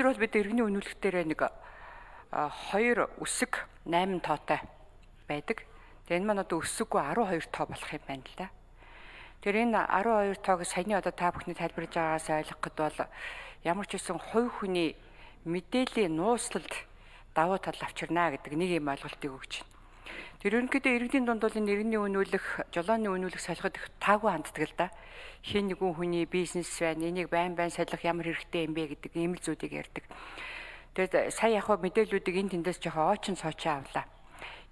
өнөөдөр бол бид иргэний үнэлэхээр нэг 2 үсэг 8 тоотой байдаг. Тэгээ энэ маань одоо өсөггүй 12 тоо болох юм байна л да. Тэр энэ 12 тоог саяны одоо та бүхний тайлбарлаж байгаагаас ойлгоход бол ямар ч үсэн хувь хүний мэдээллийн нууцлалд давуу тал авчирна гэдэг нэг юм ойлголтыг өгч байна. Тэр ерөнхийдөө иргэдийн дунд бол энэ иргэний үнэлэх, жолооны үнэлэх солиход их таагүй ханддаг л да. Хин нэгэн хүний бизнес байна, энийг байн солих ямар хэрэгтэй юм бэ гэдэг ийм л зүйлийг ярьдаг. Тэгээд сая яг мэдээллүүдийг энэ тэндээс жоохон ойчин сойчоо авлаа.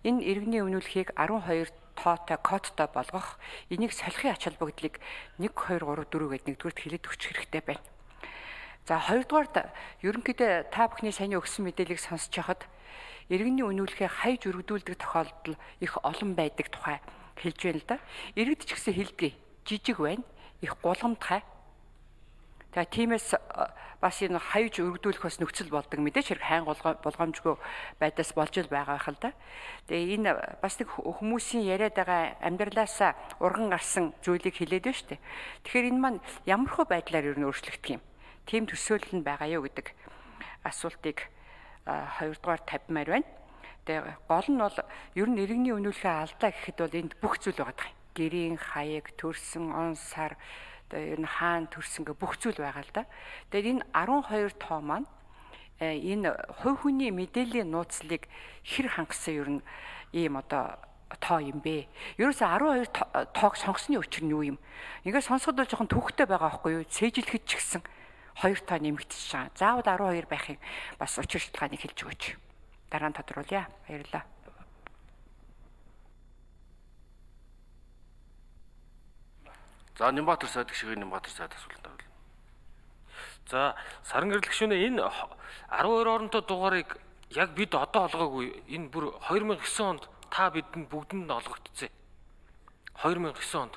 Энэ иргэний үнэлэхийг 12 тоотой кодтой болгох, энийг солихын ач холбогдлыг 1 2 3 4 гэдэг нэгдүгürt хэлээд өгчих хэрэгтэй байна. За хоёрдугаард ерөнхийдөө та бүхний саяны өгсөн мэдээллийг сонсож байхад иргэний үнэлэхээ хайж өргөдүүлдэг тохиолдол их олон байдаг тухай хэлж байна л да. Иргэд ч гэсэн хэлдэг. Жижиг байна, их гулгамтгай. Тэгээ тиймээс бас энэ хайж өргөдүүлэх бас нөхцөл болдог мэдээж хэрэг хайн болгоомжгүй байдаас болж л байгаа байх л да. Тэгээ энэ бас нэг хүмүүсийн яриад байгаа амьдралаасаа урган гарсан зүйлийг хэлээд байна шүү дээ. Тэгэхээр энэ маань ямархуу байдлаар ер нь өөрчлөгдөх юм. Тийм төсөөлөл нь байгаа юу гэдэг асуултыг хоёрдугаар тавьмаар байна. Тэгээ гол нь бол ер нь иргэний үнэлэхээ алдаа гэхэд бол энд бүх зүйл байгаа. Гэрийн хаяг, төрсөн, он сар, тэгээ ер нь хаан төрсөн гэх бүх зүйл байгаа л да. Тэгээд энэ 12 тоо маань энэ хувь хүний мэдээллийн нууцлыг хэр хангасан ер нь ийм одоо тоо юм бэ? Ерөөсө 12 тоог сонгосны учир нь юу юм? Ингээд сонсоход бол жоохон төвхтэй байгаа байхгүй юу? Цээжилэхэд ч гэсэн 2 тоо нэмэгдчихэж байгаа. Заавал 12 байхыг бас учир шалтгааныг хэлж өгөөч. Дараа нь тодруулъя. Баярлалаа. За Нямбатар сайд гişгийн Нямбатар сайд асуулт тавил. За саран гэрэл гишүүнээ энэ 12 оронтой дугаарыг яг бид одоо олгоогүй. Энэ бүр 2009 онд та бидэнд бүгдэнд олгогдсон. 2009 онд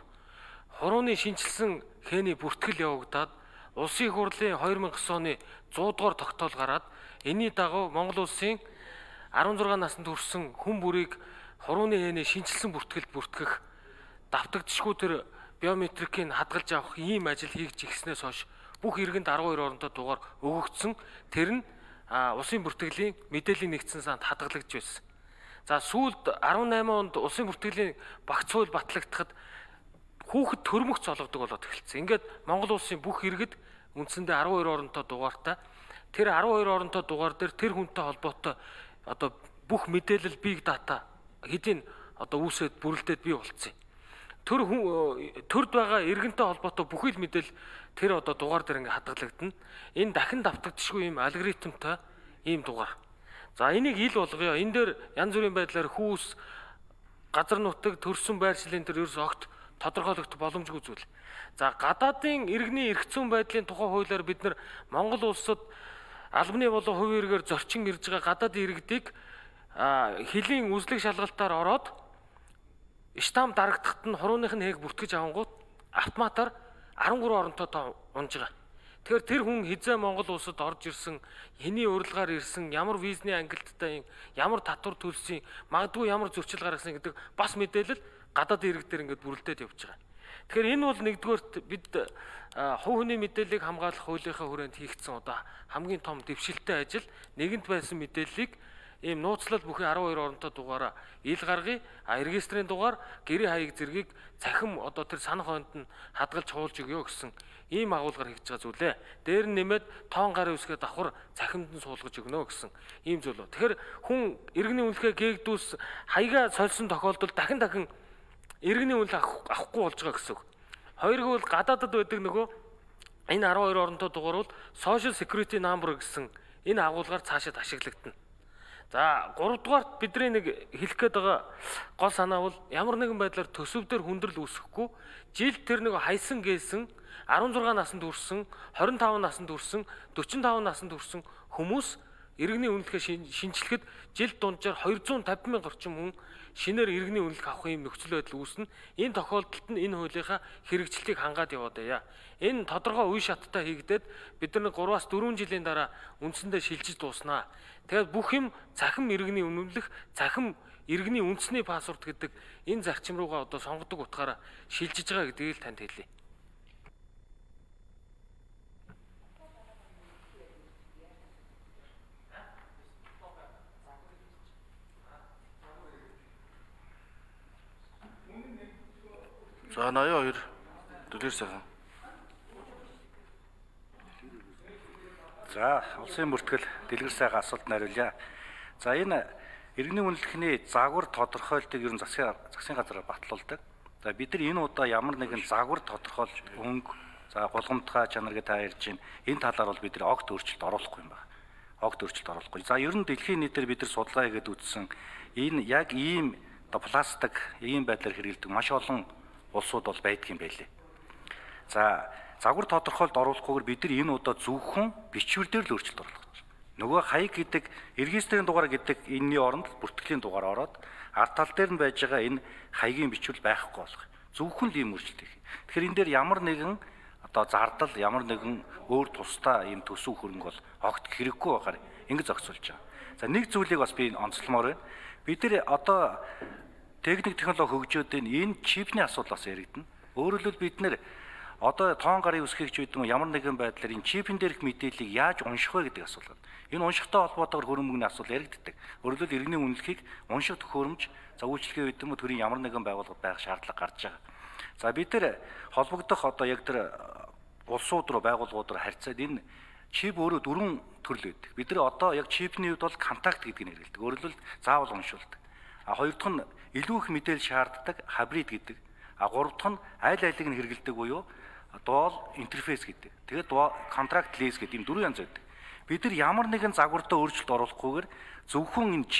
хурууны шинжилсэн хээний бүртгэл явагдаад Улсын их хурлын 2009 оны 100 дугаар тогтоол гараад энэний дагуу Монгол улсын 16 наснд хүрсэн хүн бүрийг хурууны хээний шинжилсэн бүртгэлд бүртгэх давтагдшгүй тэр биометрикийг хадгалж авах ийм ажил хийж ирснээс хойш бүх иргэнд 12 оронтой дугаар өгөгдсөн. Тэр нь улсын бүртгэлийн мэдээллийн нэгдсэн санд хадгалагдж байсан. За сүүлд 18 онд улсын бүртгэлийн багц хууль батлагдахад хүүхэд төрмөгц олгодог болоод эхэлсэн. Ингээд Монгол улсын бүх иргэд үндсэндээ 12 оронтой дугаартай. Тэр 12 оронтой дугаар дээр тэр хүнтэй холбоотой одоо бүх мэдээлэл big data хэдийн одоо үүсээд бүрэлдээд бий болцсон. Төрд байгаа иргэнтэй холбоотой бүхий л мэдээлэл тэр одоо дугаар дээр ингээд хадгалагдана. Энэ дахин давтагдшгүй ийм алгоритмтай ийм дугаар. За энийг ил болгоё. Энэ дээр янз бүрийн байдлаар хүүс, газар нутаг, төрсөн байршлын дээр ерөөс огт тодорхойлогдох боломжгүй зүйл. За гадаадын иргэний эрх зүйн байдлын тухай хуулиар бид нар Монгол улсад албаны болон хувийн иргээр зорчин ирж байгаа гадаад иргэдийг хилийн үзлэг шалгалтаар ороод штамп дарагдахад нь хурууных нь хээг бүртгэж авангууд автоматар 13 оронтой тоо унж байгаа. Тэгэхээр тэр хүн хизээ Монгол улсад орж ирсэн, хэний урилгаар ирсэн, ямар визний ангилттай, ямар татвар төлсөн, магадгүй ямар зөрчил гаргасан гэдэг бас мэдээлэл гадаад иргэдээр ингээд бүрэлдээд явж байгаа. Тэгэхээр энэ бол нэгдүгээрт бид хувь хүний мэдээллийг хамгаалах хуулийнхаа хүрээнд хийгдсэн одоо хамгийн том дэвшилттэй ажил. Нэгэнт байсан мэдээллийг ийм нууцлал бүхий 12 оронтой дугаараа ил гаргая, регистрийн дугаар, гэрийн хаяг зэргийг цахим одоо тэр санах хойнд нь хадгалж хуулж өгөө гэсэн ийм агуулгаар хийж байгаа зүйлээ. Дээр нь нэмээд тоон гарын үсгээ давхар цахимд нь суулгаж өгнө гэсэн ийм зүйл. Тэгэхээр хүн иргэний үнэлгээ гээгдүүс хаягаа сольсон тохиолдолд дахин иргэний үнэлгээ авахгүй болж байгаа гэсэн үг. Хоёрыг бол гадаадад байдаг нөгөө энэ 12 оронтой дугаар бол Social Security Number гэсэн энэ агуулгаар цаашид ашиглагдана. За 3 дугаарт бидний нэг хэлэх гээд байгаа гол санаа бол ямар нэгэн байдлаар төсөвдөр хүндрэл үүсэхгүй жил тэр нэг хайсан гээсэн 16 наснд хүрсэн, 25 наснд хүрсэн, 45 наснд хүрсэн хүмүүс иргэний үнэлгээ шинжилэхэд жил дунджаар 250 мянга орчим хүн шинээр иргэний үнэлгээ авах юм нөхцөл байдал үүснэ. Энэ тохиолдолд нь энэ хуулийнхаа хэрэгжилтийг хангаад яваад байя. Энэ тодорхой үе шаттай хийгдээд бид нар 3-аас 4 жилийн дараа үндсэндээ шилжиж дууснаа. Тэгээд бүх юм цахим иргэний үнэлэх, цахим иргэний үндэсний пассворд гэдэг энэ зарчим руугаа одоо сонгодог утгаараа шилжиж байгаа гэдгийг л танд хэлье. . За 82 Дэлгэр сайхан. За, улсын бүртгэл Дэлгэр сайхан асуултанд хариулъя. За, энэ иргэний үнэлэхний загвар тодорхойлтыг ер нь засгийн газараар батлуулдаг. За, бид нар энэ удаа ямар нэгэн загвар тодорхойлж өнгө, за гулгамтгай чанар гэж та ярьж байна. Энэ талаар бол бид нар огт өөрчлөлт оруулахгүй юм байна. Огт өөрчлөлт оруулахгүй. За, ер нь дэлхийн нийтээр бид нар судалгаа хийгээд үзсэн энэ яг ийм пластик ийм байдлаар хэрэглэдэг маш олон улсууд бол байдгийн байлээ. За, загвар тодорхойлт оруулахгүйгээр бид нар энэ удаа зөвхөн бичвэр дээр л өөрчлөлт оруулах гэж. Нөгөө хаяг гэдэг регистрийн дугаар гэдэг энэний оронд бүртгэлийн дугаар ороод ард тал дээр нь байж байгаа энэ хаягийн бичвэр байхгүй болох. Зөвхөн л ийм өөрчлөлт хийх. Тэгэхээр энэ дээр ямар нэгэн одоо зардал, ямар нэгэн өөр тусдаа ийм төсөв хөрөнгө бол огт хэрэггүй байгаар ингэ зохицуулж байгаа. За, нэг зүйлийг бас би онцлмоор байна. Бид нар одоо техник технологи хөгжөөд энэ чипний асуудал бас яригдана. Өөрөөр хэлбэл бид нэр одоо тоон гарын үсгийгч гэдэг нь ямар нэгэн байдлаар энэ чипэн дээрх мэдээллийг яаж унших вэ гэдэг асуулт. Энэ уншихтай холбоотойгоор хөрөнгөний асуудал яригддаг. Өөрөөр хэлбэл иргэний үнэлэхийг унших төхөөрөмж, за үйлчлэгээ гэдэг юм уу төрийн ямар нэгэн байгууллага байх шаардлага гарч байгаа. За, бид нэр холбогдох одоо яг тэр улсууд руу байгууллагууд руу харьцаад энэ чип өөрөө дөрвөн төрөл байдаг. Бид нар одоо яг чипний үед бол контакт гэдгийг нэрлэдэг. Өөрөөр хэлбэл заавал уншуулдаг. Хоёр дахь нь илүү их мэдээлэл шаарддаг хабрид гэдэг. Гурав дахь нь аль алиг нь хэрэгэлдэг буюу дуал интерфейс гэдэг. Тэгээд контракт лиз гэдэг ийм дөрвөн янз байдаг. Бид нар ямар нэгэн загвартаа өөрчлөлт оруулахгүйгээр зөвхөн энэ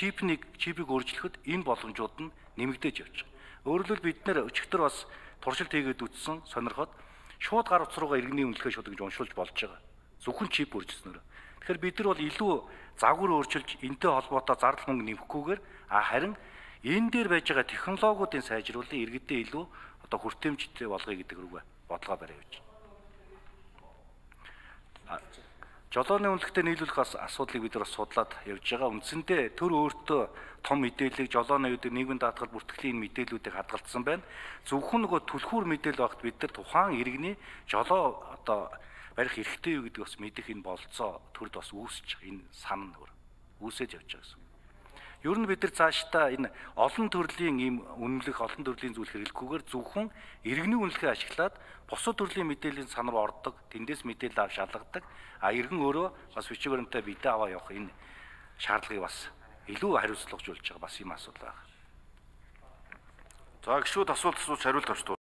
чипийг өөрчлөхөд энэ боломжууд нь нэмэгдэж явж байгаа. Өөрөөр хэлбэл бид нэр өчигдөр бас туршилт хийгээд үзсэн сонирхоод шууд гар утас руугаа иргэний үнэлгээ шууд гэж уншуулж болж байгаа. Зөвхөн чип өөрчлөснөөр. Тэгэхээр бид нар бол илүү загвар өөрчилж энтэй холбоотой зардал мөнгө нэмэхгүйгээр харин энэ дээр байж байгаа технологиудын сайжруулалтыг иргэдэд илүү одоо хүртээмжтэй болгоё гэдэг рүүгээ бодлого барай явж байна. Жолооны үнэлгээтэй нийлүүлэх асуудлыг бид нар бас судлаад явж байгаа. Үндсэндээ төр өөртөө том мэдээллийг жолооны үед нийгмийн даатгал бүртгэлийн мэдээллүүдийг хадгалсан байна. Зөвхөн нөгөө түлхүүр мэдээлэл багт бид нар тухайн иргэний жолоо одоо барих эрхтэй юу гэдэг бас мэдэх энэ болцоо төрд бас үүсэж байгаа. Энэ сан үүсэж явж байгаа гэсэн. Ер нь бид нар цаашдаа энэ олон төрлийн ийм үнэлэх, олон төрлийн зүйл хэрэглэхгүйгээр зөвхөн иргэний үнэлгээ ашиглаад бусад төрлийн мэдээллийн сан руу ордог, тэндээс мэдээлэл авч шалгадаг. Иргэн өөрөө бас бичиг баримтаа бидээ аваа явах энэ шаардлагыг бас илүү хариуцлагажуулж байгаа бас юм асуудал байна. За, гişүүд асуулт хариулт авч